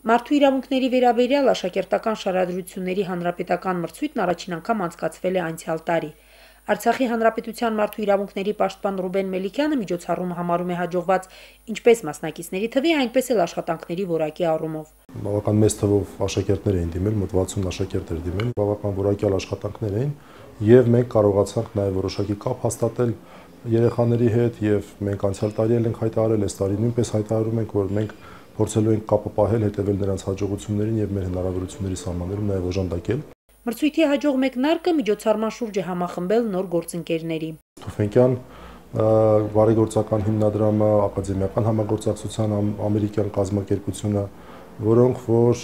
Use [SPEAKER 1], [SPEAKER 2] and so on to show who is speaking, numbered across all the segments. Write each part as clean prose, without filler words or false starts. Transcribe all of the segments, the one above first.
[SPEAKER 1] Մարդու իրավունքների վերաբերյալ աշակերտական շարադրությունների հանրապետական մրցույթն առաջին անգամ անցկացվել է անցյալ տարի։ Արցախի հանրապետության մարդու իրավունքների պաշտպան Ռուբեն Մելիքյանը միջոցառումը համարում է հաջողված ինչպես մասնակիցների թվի, այնպես էլ աշխատանքների որակի առումով։
[SPEAKER 2] Բավական մեծ թվով աշակերտներ էին դիմել, մոտ 60 աշակերտ էր դիմել, բավական որակյալ աշխատանքներ էին, եւ մենք կարողացանք նաեւ որոշակի կապ հաստատել երեխաների հետ, եւ մենք անցյալ տարի էլ ենք հայտարարել, այս տարի նույնպես հայտարարում ենք, որ մենք փորձելու ենք կապը պահել, հետևել նրանց հաջողություններին եւ մեր հնարավորությունների սահմաններում նաեւ օժանդակել։
[SPEAKER 1] Մրցույթի հաջող մեկնարկը միջոցառման շուրջ է համախմբել նոր գործընկերների։
[SPEAKER 2] Թուֆենկյան բարեգործական հիմնադրամը, ակադեմիական համագործակցության ամերիկյան կազմակերպությունը, որոնք որ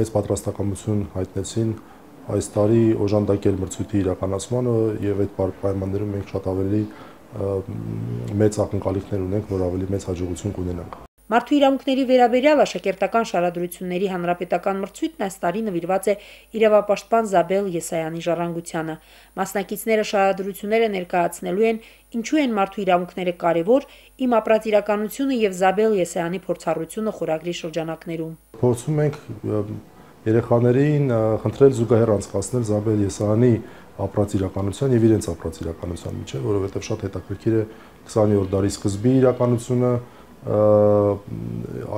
[SPEAKER 2] մեծ պատրաստակամություն հայտնեցին այս տարի օժանդակել մրցույթի իրականացմանը եւ այդ պայմաններում մենք շատ ավելի մեծ ակնկալիքներ ունենք, որ ավելի մեծ հաջողություն կունենանք։
[SPEAKER 1] Մարդու իրավունքների վերաբերյալ աշակերտական շարադրությունների հանրապետական մրցույթն այս տարի նվիրված է իրավապաշտպան Զաբել Եսայանի ժառանգությանը։ Մասնակիցները շարադրությունները ներկայացնելու են «Ինչու են մարդու իրավունքները կարևոր, իմ ապրած իրականությունը եւ Զաբել Եսայանի փորձառությունը» խորագրի շրջանակներում։
[SPEAKER 2] Փորձում ենք երեխաներին խնդրել զուգահեռ անցկացնել Զաբել Եսայանի ապրած իրականության եւ իրենց ապրած իրականության միջեւ, որովհետեւ շատ հետաքրքիր է 20-րդ դարի սկզբի իրականությունը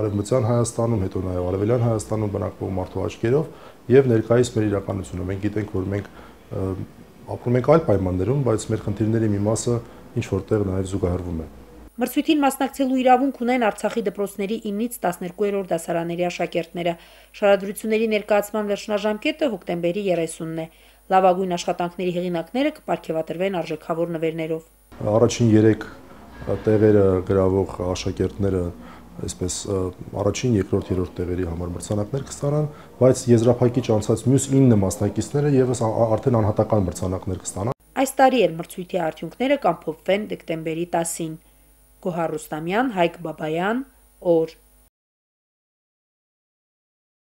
[SPEAKER 2] Արևմտյան Հայաստանում, հետո նաև Արևելյան Հայաստանում բնակվող մարդու աչքերով եւ ներկայիս մեր իրականությունը։ Մենք գիտենք, որ մենք ապրում ենք այլ պայմաններում, բայց մեր խնդիրների մի մասը ինչ որտեղ նաև զուգահեռվում է։
[SPEAKER 1] Մրցույթին մասնակցելու իրավունք ունեն Արցախի դպրոցների 9-ից 12-րդ դասարանների աշակերտները։ Շարադրությունների ներկայացման վերջնաժամկետը հոկտեմբերի 30-ն է։ Լավագույն աշխատանքների հեղինակները կպարգևատրվեն արժեքավոր նվերներով։
[SPEAKER 2] Առաջին 3 տեղերը գրավող աշակերտները այսպես առաջին, երկրորդ, երրորդ տեղերի համար մրցանակներ կստանան, բայց եզրափակիչ անցած մյուս 9 մասնակիցները եւս արդեն անհատական մրցանակներ կստանան։
[SPEAKER 1] Այս տարի էլ մրցույթի արդյունքները կամփոփվեն դեկտեմբերի 10-ին։ Գոհար Ռուստամյան, Հայկ Բաբայան, օր